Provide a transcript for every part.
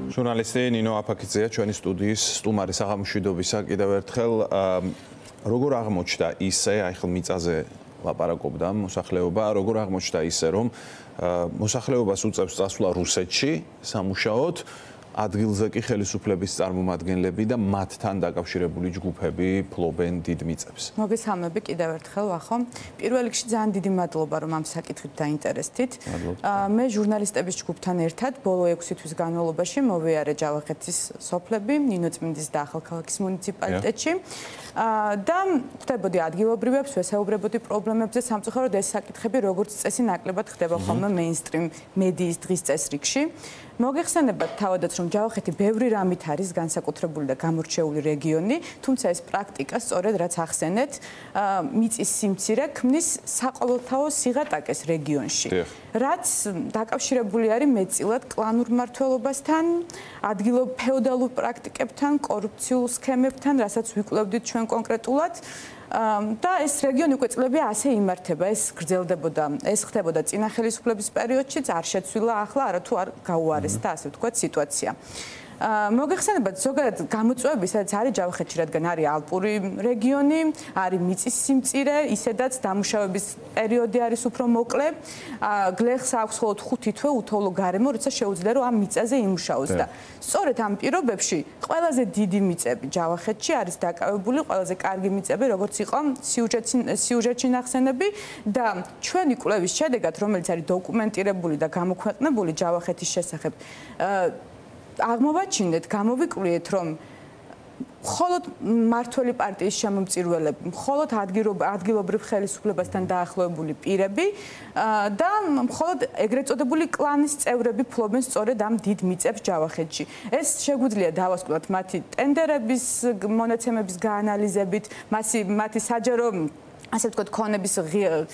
ჟურნალისტი ნინო აფაქიძეა ჩვენი სტუდიის სტუმარი საღამოშვიდობისა კიდევ ერთხელ როგორ აღმოჩნდა ისე აი ხელ მიწაზე ლაპარაკობდა მოსახლეობა როგორ აღმოჩნდა ისე რომ მოსახლეობას უწევს წასვლა რუსეთში სამუშაოდ ადგილზე კი ხელისუფლების წარმომადგენლები და მათთან დაკავშირებული ჯგუფები ფლობენ დიდ მიწებს. მოგესალმები კიდევ ერთხელ ვახო. პირველ რიგში ძალიან დიდი მადლობა რომ ამ საკითხით დაინტერესდით. მე ჟურნალისტების ჯგუფთან ერთად ბოლო 6 თვის განმავლობაში მოვიარე ჯავახეთის სოფლები, ნინოწმინდის და ახალქალაქის მუნიციპალიტეტში. და ხვდებოდი ადგილობრივებს, ვესაუბრებოდი პრობლემებზე, სამწუხაროდ ეს საკითხები როგორც წესი ნაკლებად ხდება ხოლმე მეინსტრიმ მედიის დღის წესრიგში. მოგეხსენებათ თავადაც რომ ჯავახეთი ბევრი რამით არის განსაკუთრებული და გამორჩეული რეგიონი, თუმცა ეს პრაქტიკა სწორედ რაც ახსენეთ, მიწის სიმცირე ქმნის საყოველთაო სიღატაკეს რეგიონში. რაც დაკავშირებული არის მეტწილად კლანურ მმართველობასთან, ადგილობრივ ფეოდალურ პრაქტიკებთან, კორუფციულ სქემებთან, რასაც ვიკვლევდით ჩვენ კონკრეტულად. და ეს რეგიონი უკვე წლები ასე იმართება, ეს გრძელდებოდა, ეს ხდებოდა წინა ხელისუფლების პერიოდშიც, არ შეცვლილა ახლა, არათუ არ გაუარესდა, ასე ვთქვათ, სიტუაცია. მოგეხსენებათ ზოგადად გამოწვევები, სადაც არის ჯავახეთში, რადგან არის ალპური რეგიონი, არის მიწის სიმწირე, ისედაც დამუშავების პერიოდი არის უფრო მოკლე. გლეხს აქვს მხოლოდ 5 თვე უთოვლო გარემო, როცა შეუძლია რომ ამ მიწაზე იმუშაოს და სწორედ ამ პირობებში ყველაზე დიდი მიწები ჯავახეთში არის დაკავებული, ყველაზე კარგი მიწები, როგორც იყო სიუჟეტში ნახსენები და ჩვენი კვლევის შედეგად, რომელიც არის დოკუმენტირებული და გამოქვეყნებული ჯავახეთის შესახებ, აღმოვაჩინეთ, გამოვიკვლიეთ, რომ მხოლოდ მმართველი პარტიის შემომწირველები, მხოლოდ ადგილობრივ ხელისუფლებასთან დაახლოებული პირები და მხოლოდ ეგრეთ წოდებული კლანის წევრები ფლობენ სწორედ ამ დიდ მიწებს ჯავახეთში. ეს შეგვიძლია დავასკვნოთ მათი ტენდერების, მონაცემების გაანალიზებით, მათი საჯარო ასე ვთქვათ, ქონების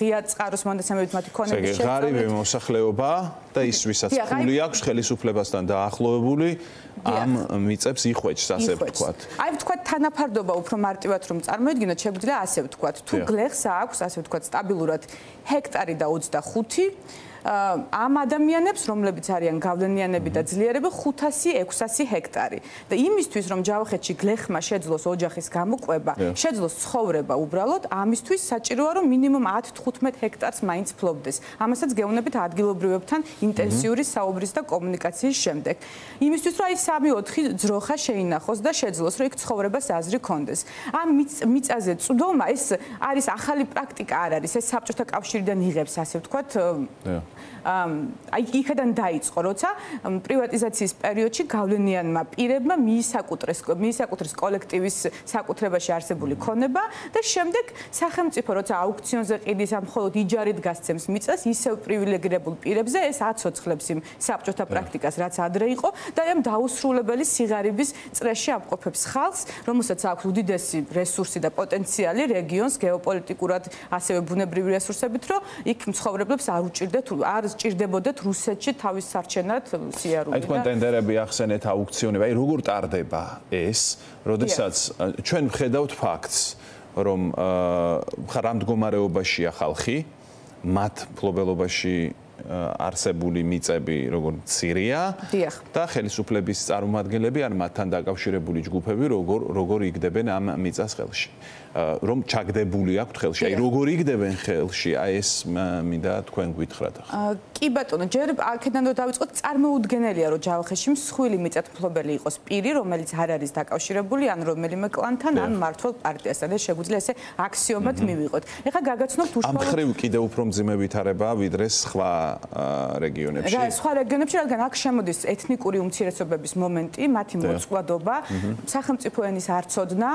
ღია წყაროს მონაცემებით მათი ქონების შეცვლით. ღარიბი მოსახლეობა და ის ვისაც ფული აქვს ხელისუფლებასთან დაახლოებული ამ მიწებს იხვეჭს, ასე ვთქვათ. აი ვთქვათ, თანაფარდობა უფრო მარტივად რომ წარმოიდგინოთ, შეგვიძლია ასე ვთქვათ, თუ გლეხს აქვს, ასე ვთქვათ, სტაბილურად ჰექტარი და 25 ამ ადამიანებს, რომლებიც არიან გავლენიანები და ძლიერები 500-600 ჰექტარი. და იმისთვის, რომ ჯავახეთში გლეხმა შეძლოს ოჯახის გამოყვება, შეძლოს ცხოვრება უბრალოდ, ამისთვის საჭიროა, რომ მინიმუმ 10-15 ჰექტარს მაინც ფლობდეს. ამასაც გეუბნებით ადგილობრივებთან ინტენსიური საუბრის და კომუნიკაციის შემდეგ. იმისთვის, რომ აი 3-4 ძროხა შეინახოს და შეძლოს, რომ იქ ცხოვრებას აზრი კონდეს. ამ მიწაზე წვდომა ეს არის ახალი პრაქტიკა არ არის, ეს საბჭოთა კავშირიდან იღებს, ასე ვთქვათ, აი იქიდან დაიწყო, როცა პრივატიზაციის პერიოდში გავლენიანმა პირებმა მიისაკუთრეს კოლექტივის საკუთრებაში არსებული ქონება და შემდეგ სახელმწიფო როცა აუქციონზე ყიდის ამ მხოლოდ იჯარით გასცემს მიწას, ისევ პრივილეგირებულ პირებზე ეს აცოცხლებს იმ საბჭოთა პრაქტიკას, რაც ადრე იყო და ამ დაუსრულებელი სიღარიბის წრეში ამყოფებს ხალხს, რომელსაც აქვს უდიდესი რესურსი და პოტენციალი რეგიონს გეოპოლიტიკურად, ასევე ბუნებრივი რესურსებით, რომ იქ მცხოვრებლებს არ ჭირდებოდეთ რუსეთში თავის სარჩენად სიარული. აი თქვენ ტენდერები ახსენეთ, აუქციონები, აი როგორ ტარდება ეს, როდესაც ჩვენ ვხედავთ ფაქტს, რომ რა მდგომარეობაშია ხალხი, მათ ფლობელობაში არსებული მიწები როგორც მცირეა და ხელისუფლების წარმომადგენლები ან მათთან დაკავშირებული ჯგუფები როგორ იგდებენ ამ მიწას ხელში. რომ ჩაგდებული აქვთ ხელში. აი როგორ იგდებენ ხელში? აი ეს მინდა თქვენ გვითხრათ ახლა. კი ბატონო, ჯერ აქედან რომ დავიწყოთ, წარმოუდგენელია რომ ჯავახეთში მსხვილი მიწათმფლობელი იყოს პირი, რომელიც არ არის დაკავშირებული ან რომელიმე კლანთან ან მმართველ პარტიასთან. ეს შეგვიძლია ესე აქსიომად მივიღოთ. ეხლა გაგაცნობთ უშუალოდ ამ ხრივ კიდევ უფრო მძიმე ვითარებაა ვიდრე სხვა რეგიონებში. სხვა რეგიონებში, რადგან აქ შემოდის ეთნიკური უმცირესობების მომენტი, მათი მოწყვლადობა, სახელმწიფო ენის არცოდნა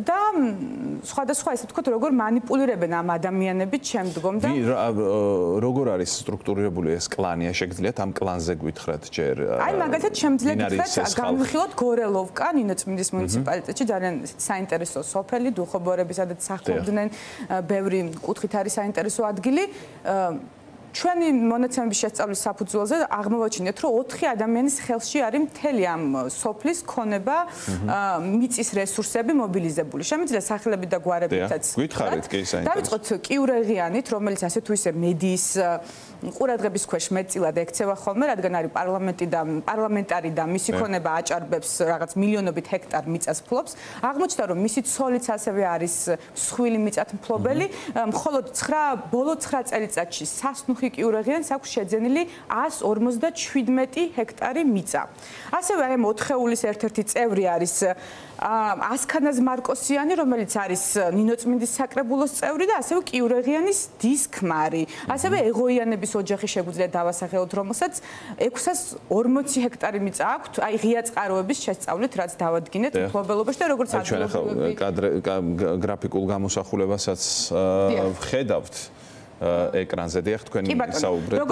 და სხვადასხვა ესე ვთქვათ, როგორ მანიპულირებენ ამ ადამიანებით შემდგომ და როგორ არის სტრუქტურირებული ეს კლანი? შეგიძლიათ ამ კლანზე გვითხრათ ჯერ? აი მაგალითად შემიძლია გითხრათ, განვიხილოთ გორელოვკა, ნინოწმინდის მუნიციპალიტეტში ძალიან საინტერესო სოფელი, დუხობორები, სადაც სახლობდნენ, ბევრი კუთხით არის საინტერესო ადგილი. ჩვენი მონაცემების შესწავლის საფუძველზე აღმოვაჩინეთ, რომ 4 ადამიანის ხელში არის მთელი ამ სოფლის ქონება, მიწის რესურსები მობილიზებული. შემიძლია სახელები და გვარებითაც. გითხარით კი საინტერესო. დავიწყოთ კიურეღიანით, რომელიც ასე თუ ისე მედიის ყურადღების ქვეშ მეტწილად ექცევა ხოლმე, რადგან არის პარლამენტარი და მისი ქონება აჭარბებს რაღაც მილიონობით ჰექტარ მიწას ფლობს. აღმოჩნდა, რომ მისი ცოლიც ასევე არის მსხვილი მიწათმფლობელი, მხოლოდ ბოლო 9 წელიწადში სასნუხი კიურაღიანს აქვს შეძენილი 157 ჰექტარი მიწა. ასევე აი 4-ხეულის ერთ-ერთი წევრი არის ასქანაზ მარკოსიანი, რომელიც არის ნინოწმინდის საკრებულოს წევრი და ასევე კიურაღიანის დის ქმარი. ასევე ეღოიანების ოჯახი შეგვიძლია დავასახელოთ, რომელსაც 640 ჰექტარი მიწა აქვს, აი ღია წყაროების შესწავლით, რაც დავადგინეთ მფლობელობაში და როგორც ადგილობრივი გრაფიკულ გამოსახულებასაც ხედავთ ეკრანზე დიახ თქვენ საუბრობთ და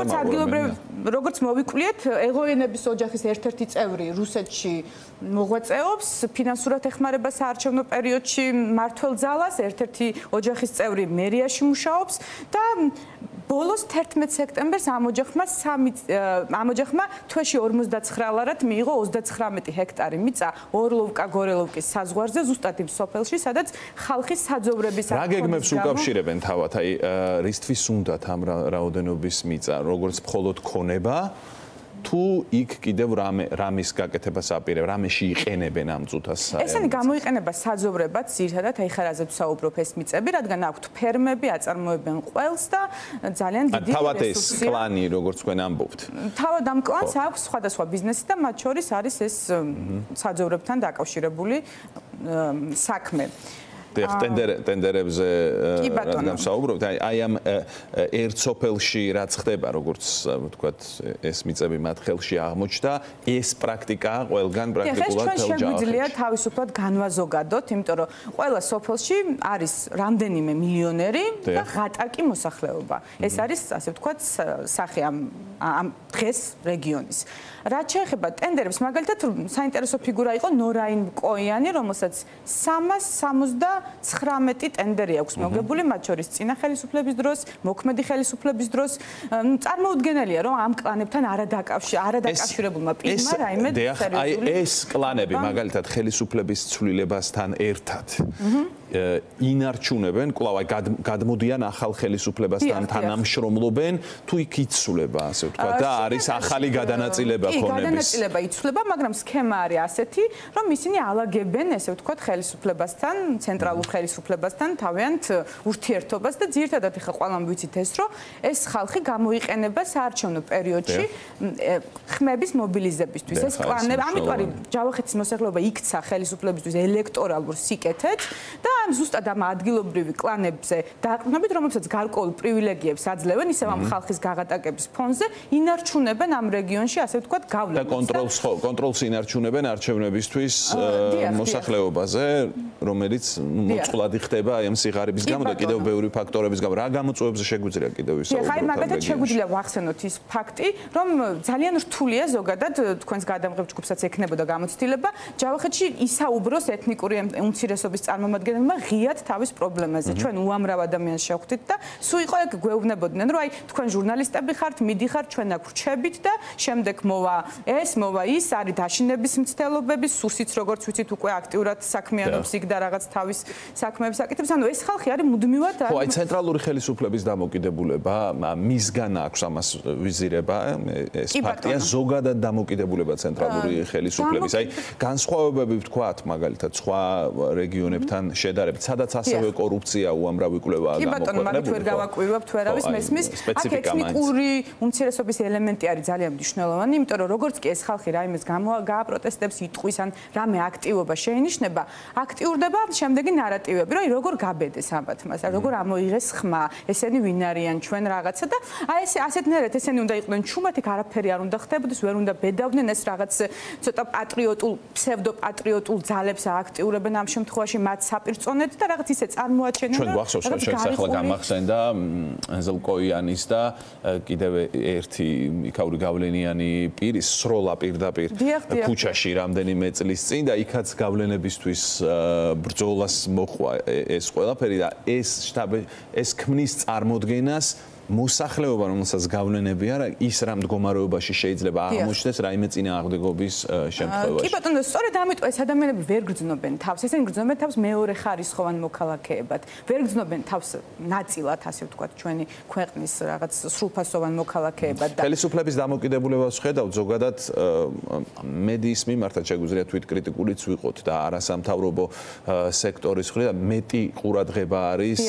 როგორც მოვიკვლიეთ ეღოიანების ოჯახის ერთ-ერთი წევრი რუსეთში მოღვაწეობს ფინანსურად ეხმარება საარჩევნო პერიოდში მმართველ ძალას ერთ-ერთი ოჯახის წევრი მერიაში მუშაობს და ბოლოს 11 სექტემბერს ამ ოჯახმა თვეში 59 ლარად მიიღო 39 ჰექტარი მიწა ორლოვკა გორელოვკის საზღვარზე ზუსტად იმ სოფელში სადაც ხალხის საძოვრების რა გეგმებს უკავშირებენ თავად აი რისთვის უნდათ ამ რაოდენობის მიწა როგორც მხოლოდ ქონება თუ იქ კიდევ რამის გაკეთებას აპირებ, რამეში იყენებენ ამ წუთას? ესენი გამოიყენება საძოვრებად, ძირითადად აი ხარაზე ვსაუბრობ ეს მიწები, რადგან აქვთ ფერმები, აწარმოებენ ყველს და ძალიან დიდი რესურსია. თავად ეს კლანი, როგორც თქვენ ამბობთ. თავად ამ კლანს აქვს სხვადასხვა ბიზნესი და მათ შორის არის ეს საძოვრებთან დაკავშირებული საქმე. ტენდერებზე რადგან საუბრობთ, აი ამ ერთ სოფელში რაც ხდება, როგორც ვთქვათ, ეს მიწები მათ ხელში აღმოჩნდა, ეს პრაქტიკაა ყველგან პრაქტიკულად თელ ჯავახეთში. შეგვიძლია თავისუფლად განვაზოგადოთ, იმიტომ რომ ყველა სოფელში არის რამდენიმე მილიონერი და ღატაკი მოსახლეობა. ეს არის, ასე ვთქვათ, სახე ამ დღეს რეგიონის. რაც შეეხება ტენდერებს, მაგალითად, საინტერესო ფიგურა იყო ნორაინ კოიანი, რომელსაც 379 ტენდერი აქვს მოგებული, მათ შორის წინა ხელისუფლების დროს, მოქმედი ხელისუფლების დროს. წარმოუდგენელია, რომ ამ კლანებთან არადაკავშირებულმა პირმა რაიმე სერიოზული ეს კლანები, მაგალითად, ხელისუფლების ცვლილებასთან ერთად ინარჩუნებენ, კვლავ გადმოდიან ახალ ხელისუფლებასთან თანამშრომლობენ, თუ იქ იცვლება, ასე ვთქვათ, და არის ახალი გადანაწილება ქონების. გადანაწილება იცვლება, მაგრამ სქემა არის ასეთი, რომ ისინი ალაგებენ, ესე ვთქვათ, ხელისუფლებასთან, ცენტრალურ ხელისუფლებასთან თავიანთ ურთიერთობას და ძირითადად ხა ყველამ ვიცით ეს, რომ ეს ხალხი გამოიყენება საარჩევნო პერიოდში ხმების მობილიზებისთვის. ეს კლანები, ამიტომ არის ჯავახეთის მოსახლეობა იქცა ხელისუფლებისთვის ელექტორალურ სიკეთეთ და ზუსტად ამ ადგილობრივი კლანებზე დაყრდნობით, რომელსაც გარკვეულ პრივილეგიებს აძლევენ, ისევ ამ ხალხის გაღატაკების ფონზე ინარჩუნებენ ამ რეგიონში, ასე ვთქვათ, გავლენას. და კონტროლს ინარჩუნებენ არჩევნებისთვის მოსახლეობაზე, რომელიც მოწყვლადი ხდება აი ამ სიღარიბის გამო და კიდევ ბევრი ფაქტორების გამო. რა გამოწვევებზე შეგვიძლია კიდევ ვისაუბროთ? ხაი მაგათაც შეგვიძლია ვახსენოთ ის ფაქტი, რომ ძალიან რთულია ზოგადად თქვენს გადამღებ ჯგუფსაც ექნებოდა გამოცდილება, ჯავახეთში ისაუბროს ეთნიკური უმცირესობის წარმომადგენლებმა ღიად თავის პრობლემაზე. ჩვენ უამრავ ადამიანს შევხვდით და სულ იყო ეგ გვეუბნებოდნენ, რომ აი თქვენ ჟურნალისტები ხართ, მიდიხართ ჩვენ აქ ვრჩებით და შემდეგ მოვა ეს, მოვა ის, არის დაშინების მცდელობები, სუსიც როგორც ვიცით უკვე აქტიურად საქმიანობს იქ და რაღაც თავის საქმეებს აკეთებს. ანუ ეს ხალხი არის მუდმივად ხო, აი ცენტრალური ხელისუფლების დამოკიდებულება, მისგან აქვს ამას ვიზირება, ეს ფაქტია, ზოგადად დამოკიდებულება ცენტრალური ხელისუფლების. აი განსხვავებები ვთქვათ, მაგალითად, სხვა რეგიონებთან შედარებით, სადაც ასევე კორუფცია უამრავი კვლევაა გამოქვეყნებული. კი ბატონო, მაგით ვერ გავაკვირვებთ, ვერავის მესმის. აქ ეთნიკური უმცირესობის ელემენტი არის ძალიან მნიშვნელოვანი, იმიტომ რომ როგორც კი ეს ხალხი რაიმეს გააპროტესტებს, იტყვის ან რამე აქტივობა შეინიშნება, აქტიურდება შემდეგი ნარატივები, რომ როგორ გაბედეს ამბათმას, როგორ ამოიღეს ხმა, ესენი ვინ არიან, ჩვენ რაღაცა და აი ეს ასეთნაირად ესენი უნდა იყვნენ ჩუმად, იქ არაფერი არ უნდა ხდებოდეს, ვერ უნდა ბედავდნენ ეს რაღაც ცოტა პატრიოტულ, ფსევდოპატრიოტულ ძალებს ააქტიურებენ ამ შემთხვევაში მათ საპირწონედ და რაღაც ისე წარმოაჩენენ. ჩვენ გვახსოვს, რომ შესახლა გამახსენდა ენზელ კოიანის და კიდევ ერთი იქაური გავლენიანი პირის სროლა პირდაპირ ქუჩაში რამდენიმე წლის წინ და იქაც გავლენებისთვის ბრძოლას მოხვა ეს ყველაფერი და ეს ქმნის წარმოდგენას მოსახლეობა, რომელსაც გავლენები არა, ის რა მდგომარეობაში შეიძლება აღმოჩნდეს რაიმე წინააღმდეგობის შემთხვევაში. კი ბატონო, სწორედ ამიტომ ეს ადამიანები ვერ გრძნობენ თავს, ესენი გრძნობენ თავს მეორე ხარისხოვან მოქალაქეებად. ვერ გრძნობენ თავს ნაწილად, ასე ვთქვათ, ჩვენი ქვეყნის რაღაც სრულფასოვან მოქალაქეებად და ხელისუფლების დამოკიდებულებას ვხედავთ ზოგადად მედიის მიმართაც შეგვიძლია თვითკრიტიკულიც ვიყოთ და არასამთავრობო სექტორის მხრიდან მეტი ყურადღება არის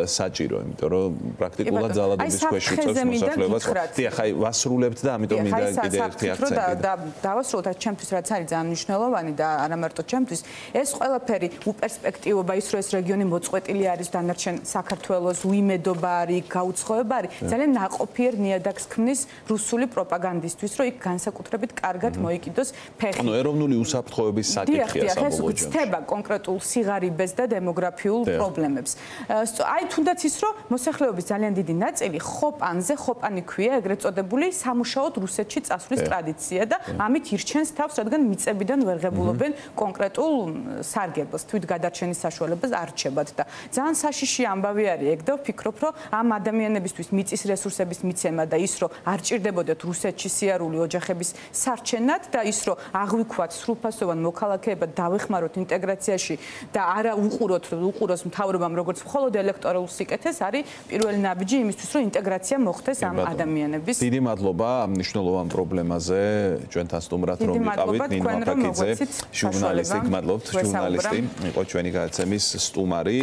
საჭირო, იმიტომ რომ პრაქტიკულად ძალადობის ქვეშ უწევს მოსახლეობას. დიახ, აი ვასრულებთ და ამიტომ მინდა კიდე ერთი აქცენტი და დავასრულოთ აი ჩემთვის რაც არის ძალიან მნიშვნელოვანი და არა მარტო ჩემთვის, ეს ყველაფერი უპერსპექტივობა ის რომ ეს რეგიონი მოწყვეტილი არის დანარჩენ საქართველოს, უიმედობა არის, გაუცხოება არის, ძალიან ნაყოფიერ ნიადაგს ქმნის რუსული პროპაგანდისთვის, რომ იქ განსაკუთრებით კარგად მოიკიდოს ფეხი. ანუ ეროვნული უსაფრთხოების საკითხია საბოლოო ჯამში. ხდება კონკრეტულ სიღარიბეს და დემოგრაფიულ პრობლემებს. აი თუნდაც ის რომ მოსახლეობის ძალიან დიდი ნაწილი ხოპანზე, ხოპანი ქვია ეგრეთ წოდებული სამუშაოდ რუსეთში წასვლის ტრადიცია და ამით ირჩენს თავს, რადგან მიწებიდან ვერ ღებულობენ კონკრეტულ სარგებელს, თვით გადარჩენის საშუალებას არ რჩებათ და ძალიან საშიში ამბავი არის ეგ და ვფიქრობ, რომ ამ ადამიანებისთვის მიწის რესურსების მიცემა და ის რომ არ ჭირდებოდეთ რუსეთში სიარული ოჯახების სარჩენად და ის რომ აღვიქვათ სრულფასოვან მოქალაქეებად დავეხმაროთ ინტეგრაციაში და არა უყუროს მთავრობამ როგორც მხოლოდ ელექტორალურ სიკეთეს არის პირველი ნაბიჯი იმისთვის რომ ინტეგრაცია მოხდეს ამ ადამიანების. დიდი მადლობა ამ მნიშვნელოვან პრობლემაზე ჩვენთან სტუმრად რომ ვიყავით ნინო აფაკიძე, ჟურნალისტი, გმადლობთ, ჟურნალისტი იყო ჩვენი გადაცემის სტუმარი.